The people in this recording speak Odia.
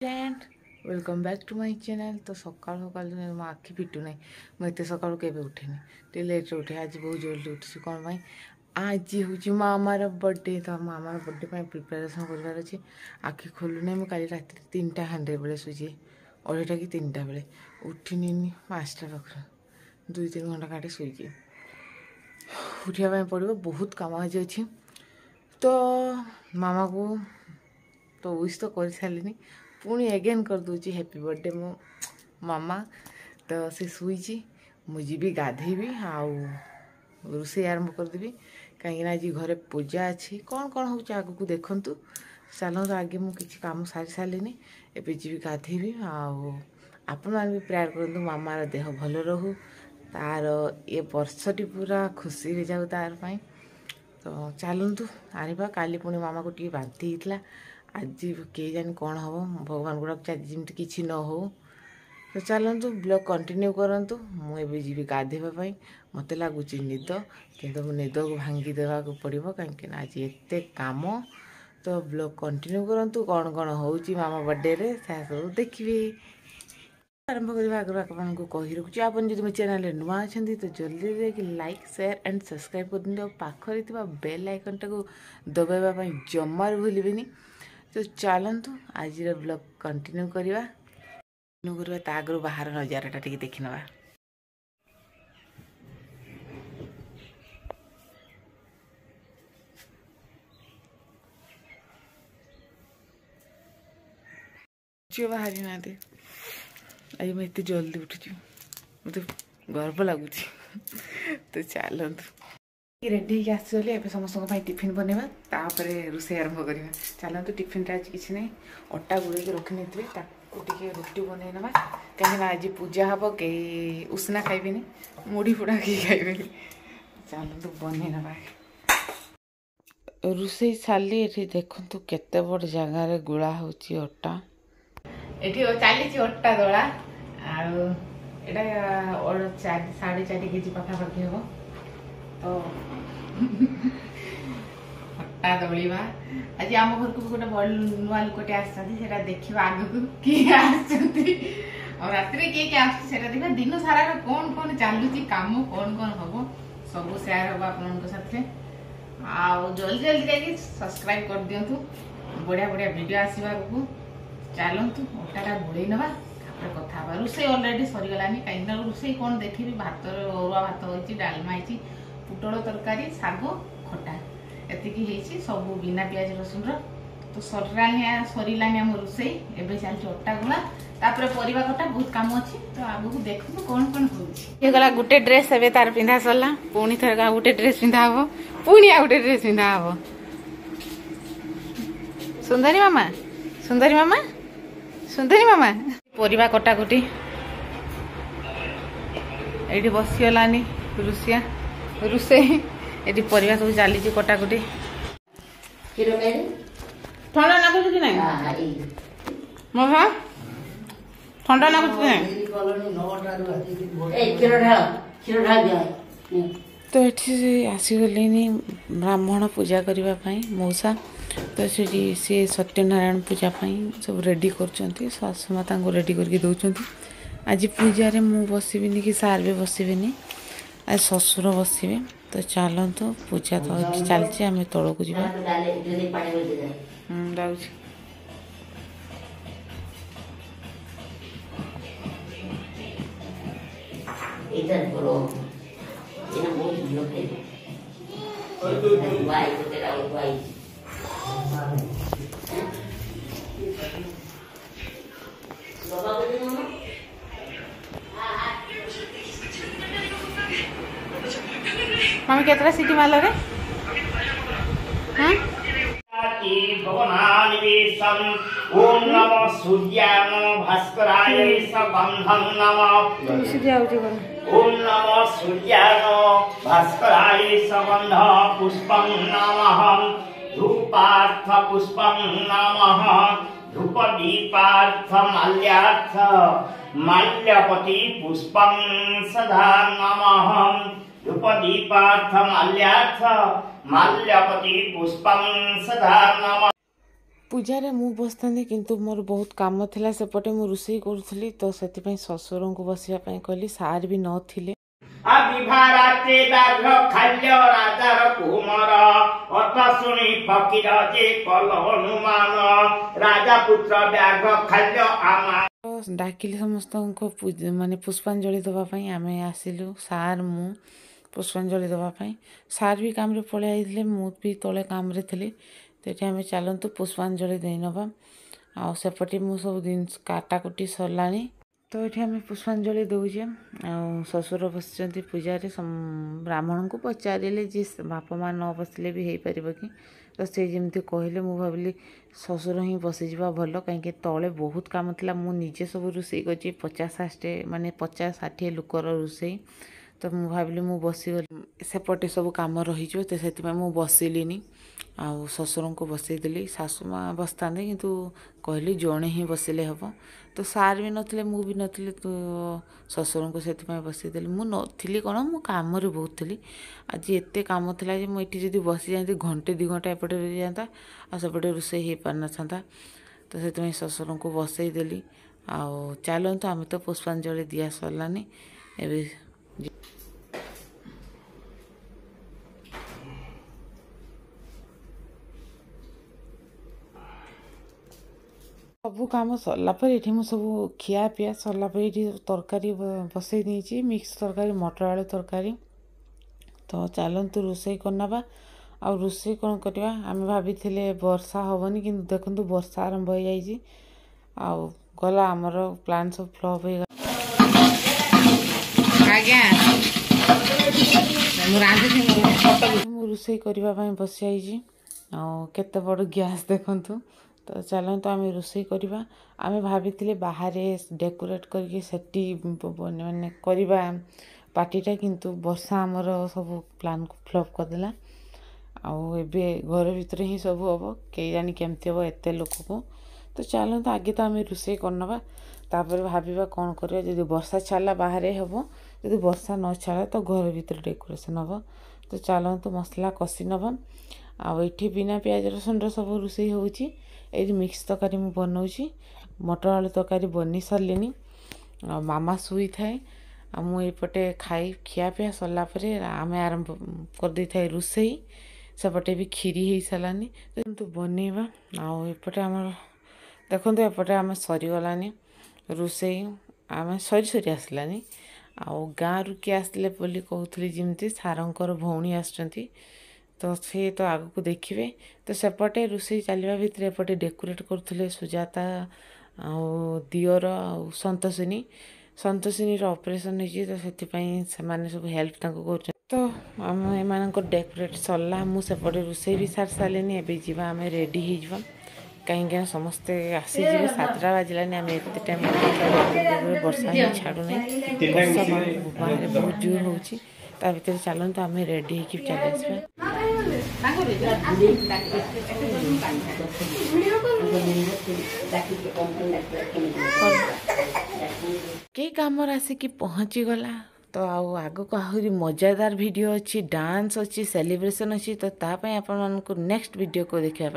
Friend, welcome back to my channel. ତ ସକାଳୁ ସକାଳୁ ମୋ ଆଖି ଫିଟୁ ନାହିଁ। ମୁଁ ଏତେ ସକାଳୁ କେବେ ଉଠେନି, ଟିକେ ଲେଟ୍ରେ ଉଠେ। ଆଜି ବହୁତ ଜଲ୍ଦି ଉଠିଛି। କ'ଣ ପାଇଁ? ଆଜି ହେଉଛି ମାମାର ବର୍ଥଡେ। ତ ମାମାର ବର୍ଥଡେ ପାଇଁ ପ୍ରିପାରେସନ୍ କରିବାର ଅଛି। ଆଖି ଖୋଲୁନାହିଁ। ମୁଁ କାଲି ରାତିରେ 3ଟା ହାଣ୍ଡରେ ବେଳେ ଶୋଇଛି, 2:30 କି 3ଟା ବେଳେ ଉଠିନି। 5ଟା ପାଖରୁ 2-3 ଘଣ୍ଟା କାଟି ଶୋଇଛି। ଉଠିବା ପାଇଁ ପଡ଼ିବ, ବହୁତ କାମ ଆଜି ଅଛି। ତ ମାମାକୁ ତ ୱିଶ୍ ତ କରିସାରିଲିନି, ପୁଣି ଏଗେନ୍ କରିଦେଉଛି, ହ୍ୟାପି ବର୍ଥଡେ ମୋ ମାମା। ତ ସେ ଶୋଇଛି, ମୁଁ ଯିବି ଗାଧେଇବି ଆଉ ରୋଷେଇ ଆରମ୍ଭ କରିଦେବି, କାହିଁକିନା ଆଜି ଘରେ ପୂଜା ଅଛି। କ'ଣ କ'ଣ ହେଉଛି ଆଗକୁ ଦେଖନ୍ତୁ। ଚାଲନ୍ତୁ, ଆଗେ ମୁଁ କିଛି କାମ ସାରି ସାରିଲିନି, ଏବେ ଯିବି ଗାଧେଇବି। ଆଉ ଆପଣମାନେ ବି ପ୍ରେୟାର କରନ୍ତୁ ମାମାର ଦେହ ଭଲ ରହୁ, ତାର ଏ ବର୍ଷଟି ପୁରା ଖୁସିରେ ଯାଉ ତାର ପାଇଁ। ତ ଚାଲନ୍ତୁ ଆଣିବା। କାଲି ପୁଣି ମାମାକୁ ଟିକେ ବାନ୍ତି ହେଇଥିଲା, ଆଜି କେହି ଜାଣି କ'ଣ ହେବ। ଭଗବାନଙ୍କୁ ଡାକୁଛି ଆଜି ଯେମିତି କିଛି ନ ହଉ। ତ ଚାଲନ୍ତୁ, ବ୍ଲଗ୍ କଣ୍ଟିନ୍ୟୁ କରନ୍ତୁ। ମୁଁ ଏବେ ଯିବି ଗାଧେଇବା ପାଇଁ। ମୋତେ ଲାଗୁଛି ନିଦ, କିନ୍ତୁ ମୁଁ ନିଦକୁ ଭାଙ୍ଗି ଦେବାକୁ ପଡ଼ିବ, କାହିଁକିନା ଆଜି ଏତେ କାମ। ତ ବ୍ଲଗ୍ କଣ୍ଟିନ୍ୟୁ କରନ୍ତୁ, କ'ଣ କ'ଣ ହେଉଛି ମାମା ବର୍ଥଡେରେ ସେହା ସବୁ ଦେଖିବେ। ଆରମ୍ଭ କରିବା ଆଗରୁ ଆପଣଙ୍କୁ କହି ରଖୁଛି, ଆପଣ ଯଦି ମୋ ଚ୍ୟାନେଲରେ ନୂଆ ଅଛନ୍ତି ତ ଜଲ୍ଦି ଯାଇକି ଲାଇକ୍, ସେୟାର ଆଣ୍ଡ ସବସ୍କ୍ରାଇବ୍ କରିଦିଅନ୍ତୁ, ଆଉ ପାଖରେ ଥିବା ବେଲ୍ ଆଇକନ୍ଟାକୁ ଦବାଇବା ପାଇଁ ଜମାରୁ ଭୁଲିବେନି। ତ ଚାଲନ୍ତୁ ଆଜିର ବ୍ଲଗ୍ କଣ୍ଟିନ୍ୟୁ କରିବା। ତା ଆଗରୁ ବାହାର ନଜାରାଟା ଟିକେ ଦେଖିନେବା। ଝିଅ ବାହାରି ନାହାନ୍ତି। ଆଜି ମୁଁ ଏତେ ଜଲ୍ଦି ଉଠିଛି, ମୋତେ ଗର୍ବ ଲାଗୁଛି। ତ ଚାଲନ୍ତୁ, ରେଡ଼ି ହେଇକି ଆସିଗଲି। ଏବେ ସମସ୍ତଙ୍କ ପାଇଁ ଟିଫିନ୍ ବନେଇବା, ତାପରେ ରୋଷେଇ ଆରମ୍ଭ କରିବା। ଚାଲନ୍ତୁ, ଟିଫିନ୍ଟା ଆଜି କିଛି ନାହିଁ, ଅଟା ଗୋଳେଇକି ରଖିନେଇଥିବେ, ତାକୁ ଟିକେ ରୁଟି ବନେଇ ନେବା, କାହିଁକିନା ଆଜି ପୂଜା ହେବ, କେହି ଉଷୁନା ଖାଇବେନି, ମୁଢ଼ି ଫୁଡ଼ା କେହି ଖାଇବେନି। ଚାଲନ୍ତୁ ବନେଇ ନେବା। ରୋଷେଇ ସାରିଲି। ଏଠି ଦେଖନ୍ତୁ କେତେ ବଡ଼ ଜାଗାରେ ଗୁଳା ହେଉଛି ଅଟା। ଏଠି ଚାଲିଛି ଅଟା ଦଳା, ଆଉ ଏଇଟା 4, 4.5 କେଜି ପାଖାପାଖି ହେବ। ତ ଅଟା ଦଳିବା। ଆଜି ଆମ ଘରକୁ ବି ଗୋଟେ ଭଲ ନୂଆ ଲୋକଟେ ଆସିଛନ୍ତି, ସେଟା ଦେଖିବା ଆଗକୁ କିଏ ଆସିଛନ୍ତି ଆଉ ରାତିରେ କିଏ କିଏ ଆସୁଛି ସେଟା ଦେଖିବା। ଦିନ ସାରାର କ'ଣ କ'ଣ ଚାଲୁଛି କାମ, କ'ଣ କ'ଣ ହବ ସବୁ ସେୟାର ହବ ଆପଣଙ୍କ ସାଥିରେ। ଆଉ ଜଲ୍ଦି ଜଲ୍ଦି ଯାଇକି ସବସ୍କ୍ରାଇବ କରିଦିଅନ୍ତୁ, ବଢ଼ିଆ ବଢ଼ିଆ ଭିଡ଼ିଓ ଆସିବ ଆଗକୁ। ଚାଲନ୍ତୁ ଅଟାଟା ଗୋଳେଇ ନେବା, ତାପରେ କଥା ହେବା। ରୋଷେଇ ଅଲରେଡ଼ି ସରିଗଲାନି, କାହିଁକିନା ରୋଷେଇ କ'ଣ ଦେଖିବି, ଭାତର ଅରୁଆ ଭାତ ହେଇଛି, ଡାଲମା ହେଇଛି, ପୋଟଳ ତରକାରୀ, ଶାଗ, ଖଟା, ଏତିକି ହେଇଛି, ସବୁ ବିନା ପିଆଜ ରସୁଣର। ତ ସରିଲାନି ସରିଲାନି ଆମ ରୋଷେଇ। ଏବେ ଚାଲିଛି ଅଟା ଗୋଳା, ତାପରେ ପରିବା କଟା, ବହୁତ କାମ ଅଛି। ତ ଆଗକୁ ଦେଖନ୍ତୁ କ'ଣ କ'ଣ ହଉଛି। ହେଇଗଲା ଗୋଟେ ଡ୍ରେସ୍, ଏବେ ତାର ପିନ୍ଧା ସରିଲା। ପୁଣି ଥରେ ଆଉ ଗୋଟେ ଡ୍ରେସ୍ ପିନ୍ଧା ହବ, ପୁଣି ଆଉ ଗୋଟେ ଡ୍ରେସ୍ ପିନ୍ଧା ହବ। ସୁନ୍ଦରୀ ମାମା, ସୁନ୍ଦରୀ ମାମା, ସୁନ୍ଦରୀ ମାମା। ପରିବା କଟାକଟି ଏଇଠି ବସିଗଲାନି ରୁଷିଆ ରୋଷେଇ। ଏଠି ପରିବା ସବୁ ଚାଲିଛି କଟାକଟି। ଥଣ୍ଡା ଲାଗୁଛି କି ନାଇଁ ମହା? ଥଣ୍ଡା ଲାଗୁଛି କି ନାଇଁ? ତ ଏଠି ଆସିଗଲେନି ବ୍ରାହ୍ମଣ ପୂଜା କରିବା ପାଇଁ ମଉସା। ତ ସେଠି ସିଏ ସତ୍ୟନାରାୟଣ ପୂଜା ପାଇଁ ସବୁ ରେଡ଼ି କରୁଛନ୍ତି, ଶାଶୁ ମା ତାଙ୍କୁ ରେଡ଼ି କରିକି ଦେଉଛନ୍ତି। ଆଜି ପୂଜାରେ ମୁଁ ବସିବିନି କି ସାର୍ ବି ବସିବେନି, ଆଜି ଶ୍ୱଶୁର ବସିବେ। ତ ଚାଲନ୍ତୁ, ପୂଜା ତ ଚାଲିଛି, ଆମେ ତଳକୁ ଯିବା। ଯାଉଛି। ଏଇଟା ଏଇଟା ବହୁତ ଭଲ ଖାଇବା। ଧୁଆ ହେଇଛି। ବାବା ମାମା। ମାମି, କେତେଟା ସିଟି ମାରିଲ ରେ? ଓମ୍ ନମ ସୂର୍ଯ୍ୟାୟ ନମ ଭାସ୍କରାୟ ସଗନ୍ଧଂ ନମ। ଓମ୍ ନମ ସୂର୍ଯ୍ୟାୟ ନମ ଭାସ୍କରାୟ ସଗନ୍ଧ ପୁଷ୍ପଂ ନମଃ, ଧୂପାର୍ଥ ପୁଷ୍ପଂ ନମଃ, ଧୂପ ଦୀପାର୍ଥ ମାଲ୍ୟାର୍ଥ ମାଲ୍ୟପତି ପୁଷ୍ପଂ ସଦା ନମଃ, ଧୂପ ଦୀପାର୍ଥ ମାଲ୍ୟାର୍ଥ ମାଲ୍ୟପତି ପୁଷ୍ପଂ ସଦା ନମଃ। ପୂଜାରେ ମୁଁ ବସିଥାନ୍ତି, କିନ୍ତୁ ମୋର ବହୁତ କାମ ଥିଲା ସେପଟେ, ମୁଁ ରୋଷେଇ କରୁଥିଲି, ତ ସେଥିପାଇଁ ଶ୍ୱଶୁରଙ୍କୁ ବସିବା ପାଇଁ କହିଲି। ସାର୍ ବି ନଥିଲେ। ବିଭାରାତ୍ରି ବ୍ୟାଘ୍ର ଖାଲ୍ୟ ରାଜାର କୁମର, ଅତ ଶୁଣି ଫକୀର ଯେ କଲ ଅନୁମାନ, ରାଜା ପୁତ୍ର ବ୍ୟାଘ୍ର ଖାଲ୍ୟ ଆମା। ଡାକିଲି ସମସ୍ତଙ୍କୁ ମାନେ ପୁଷ୍ପାଞ୍ଜଳି ଦେବା ପାଇଁ। ଆମେ ଆସିଲୁ ସାର୍ ମୁଁ ପୁଷ୍ପାଞ୍ଜଳି ଦେବା ପାଇଁ। ସାର୍ ବି କାମରେ ପଳେଇ ଯାଇଥିଲେ, ମୁଁ ବି ତଳେ କାମରେ ଥିଲି। ତ ଏଠି ଆମେ ଚାଲନ୍ତୁ ପୁଷ୍ପାଞ୍ଜଳି ଦେଇନେବା। ଆଉ ସେପଟେ ମୁଁ ସବୁ ଜିନିଷ କାଟାକୁଟି ସରିଲାଣି। ତ ଏଠି ଆମେ ପୁଷ୍ପାଞ୍ଜଳି ଦେଉଛେ ଆଉ ଶ୍ୱଶୁର ବସିଛନ୍ତି ପୂଜାରେ। ବ୍ରାହ୍ମଣଙ୍କୁ ପଚାରିଲେ ଯେ ବାପା ମା' ନ ବସିଲେ ବି ହେଇପାରିବ କି? ତ ସେ ଯେମିତି କହିଲେ, ମୁଁ ଭାବିଲି ଶ୍ୱଶୁର ହିଁ ବସିଯିବା ଭଲ, କାହିଁକି ତଳେ ବହୁତ କାମ ଥିଲା। ମୁଁ ନିଜେ ସବୁ ରୋଷେଇ କରିଛି, 50 60 ମାନେ 50 60 ଲୋକର ରୋଷେଇ। ତ ମୁଁ ଭାବିଲି ମୁଁ ବସିଗଲି ସେପଟେ ସବୁ କାମ ରହିଯିବ, ତ ସେଥିପାଇଁ ମୁଁ ବସିଲିନି ଆଉ ଶ୍ୱଶୁରଙ୍କୁ ବସେଇଦେଲି। ଶାଶୁ ମା' ବସିଥାନ୍ତେ, କିନ୍ତୁ କହିଲି ଜଣେ ହିଁ ବସିଲେ ହେବ। ତ ସାର୍ ବି ନଥିଲେ, ମୁଁ ବି ନଥିଲି, ତ ଶ୍ୱଶୁରଙ୍କୁ ସେଥିପାଇଁ ବସେଇଦେଲି। ମୁଁ ନଥିଲି କ'ଣ, ମୁଁ କାମରେ ବହୁତ ଥିଲି। ଆଜି ଏତେ କାମ ଥିଲା ଯେ ମୁଁ ଏଠି ଯଦି ବସିଯାଆନ୍ତି, ଘଣ୍ଟେ 2 ଘଣ୍ଟା ଏପଟେ ରହିଯାଆନ୍ତା ଆଉ ସେପଟେ ରୋଷେଇ ହେଇପାରିନଥାନ୍ତା। ତ ସେଥିପାଇଁ ଶ୍ୱଶୁରଙ୍କୁ ବସେଇଦେଲି। ଆଉ ଚାଲନ୍ତୁ, ଆମେ ତ ପୁଷ୍ପାଞ୍ଜଳି ଦିଆ ସରିଲାନି, ଏବେ ସବୁ କାମ ସରିଲା ପରେ ଏଠି ମୁଁ ସବୁ ଖିଆ ପିଆ ସରିଲା ପରେ ଏଠି ତରକାରୀ ବସେଇ ଦେଇଛି, ମିକ୍ସ ତରକାରୀ, ମଟର ଆଳୁ ତରକାରୀ। ତ ଚାଲନ୍ତୁ ରୋଷେଇ କରିନେବା। ଆଉ ରୋଷେଇ କ'ଣ କରିବା? ଆମେ ଭାବିଥିଲେ ବର୍ଷା ହେବନି, କିନ୍ତୁ ଦେଖନ୍ତୁ ବର୍ଷା ଆରମ୍ଭ ହେଇଯାଇଛି ଆଉ ଗଲା, ଆମର ପ୍ଲାନ୍ ସବୁ ଫ୍ଲପ୍ ହେଇଗଲା। ଆଜ୍ଞା, ମୁଁ ରାନ୍ଧୁଛି। ମୁଁ ରୋଷେଇ କରିବା ପାଇଁ ବସିଯାଇଛି ଆଉ କେତେ ବଡ଼ ଗ୍ୟାସ୍ ଦେଖନ୍ତୁ। ତ ଚାଲନ୍ତୁ ଆମେ ରୋଷେଇ କରିବା। ଆମେ ଭାବିଥିଲେ ବାହାରେ ଡେକୋରେଟ୍ କରିକି ସେଠି ମାନେ କରିବା ପାର୍ଟିଟା, କିନ୍ତୁ ବର୍ଷା ଆମର ସବୁ ପ୍ଲାନ୍କୁ ଫ୍ଲପ୍ କରିଦେଲା। ଆଉ ଏବେ ଘର ଭିତରେ ହିଁ ସବୁ ହେବ। କେଜାଣି କେମିତି ହେବ ଏତେ ଲୋକକୁ? ତ ଚାଲନ୍ତୁ, ଆଗେ ତ ଆମେ ରୋଷେଇ କରିନେବା, ତାପରେ ଭାବିବା କ'ଣ କରିବା। ଯଦି ବର୍ଷା ଛାଡ଼ିଲା ବାହାରେ ହେବ, ଯଦି ବର୍ଷା ନ ଛାଡ଼ିଲା ତ ଘର ଭିତରେ ଡେକୋରେସନ୍ ହେବ। ତ ଚାଲନ୍ତୁ ମସଲା କଷି ନେବା। ଆଉ ଏଠି ବିନା ପିଆଜ ରସୁଣର ସବୁ ରୋଷେଇ ହେଉଛି। ଏଇଠି ମିକ୍ସ ତରକାରୀ ମୁଁ ବନଉଛି, ମଟର ଆଳୁ ତରକାରୀ ବନେଇ ସାରିଲିଣି। ଆଉ ମାମା ଶୋଇଥାଏ ଆଉ ମୁଁ ଏପଟେ ଖାଇ ଖିଆପିଆ ସରିଲା ପରେ ଆମେ ଆରମ୍ଭ କରିଦେଇଥାଏ ରୋଷେଇ। ସେପଟେ ବି କ୍ଷୀରି ହେଇସାରିଲାନି, କିନ୍ତୁ ବନେଇବା। ଆଉ ଏପଟେ ଆମର ଦେଖନ୍ତୁ, ଏପଟେ ଆମେ ସରିଗଲାନି ରୋଷେଇ, ଆମେ ସରି ସରି ଆସିଲାନି। ଆଉ ଗାଁରୁ କିଏ ଆସିଲେ ବୋଲି କହୁଥିଲି, ଯେମିତି ସାରଙ୍କର ଭଉଣୀ ଆସୁଛନ୍ତି, ତ ସେ ତ ଆଗକୁ ଦେଖିବେ। ତ ସେପଟେ ରୋଷେଇ ଚାଲିବା ଭିତରେ ଏପଟେ ଡେକୋରେଟ୍ କରୁଥିଲେ ସୁଜାତା ଆଉ ଦିଅର ଆଉ ସନ୍ତୋଷିନୀ। ସନ୍ତୋଷିନୀର ଅପରେସନ୍ ହେଇଛି, ତ ସେଥିପାଇଁ ସେମାନେ ସବୁ ହେଲ୍ପ ତାଙ୍କୁ କରୁଛନ୍ତି। ତ ଆମ ଏମାନଙ୍କର ଡେକୋରେଟ୍ ସରିଲା, ମୁଁ ସେପଟେ ରୋଷେଇ ବି ସାରି ସାରିଲିନି। ଏବେ ଯିବା, ଆମେ ରେଡ଼ି ହେଇଯିବା, କାହିଁକିନା ସମସ୍ତେ ଆସିଯିବେ। 7ଟା ବାଜିଲାନି, ଆମେ ଏତେ ଟାଇମ୍ ବର୍ଷା ହିଁ ଛାଡ଼ୁନାହିଁ। ବର୍ଷା ବାହାରେ ବହୁତ ଜୋର ହେଉଛି। ତା ଭିତରେ ଚାଲନ୍ତୁ ଆମେ ରେଡ଼ି ହେଇକି ଚାଲି ଆସିବା। ଡାକିକି କମ୍ପାନୀ ଡାକିଲେ କେମିତି? କେକ୍ ଆମର ଆସିକି ପହଞ୍ଚିଗଲା। ତ ଆଉ ଆଗକୁ ଆହୁରି ମଜାଦାର ଭିଡ଼ିଓ ଅଛି, ଡାନ୍ସ ଅଛି, ସେଲିବ୍ରେସନ୍ ଅଛି, ତ ତା ପାଇଁ ଆପଣମାନଙ୍କୁ ନେକ୍ସଟ ଭିଡ଼ିଓକୁ ଦେଖିବା ପାଇଁ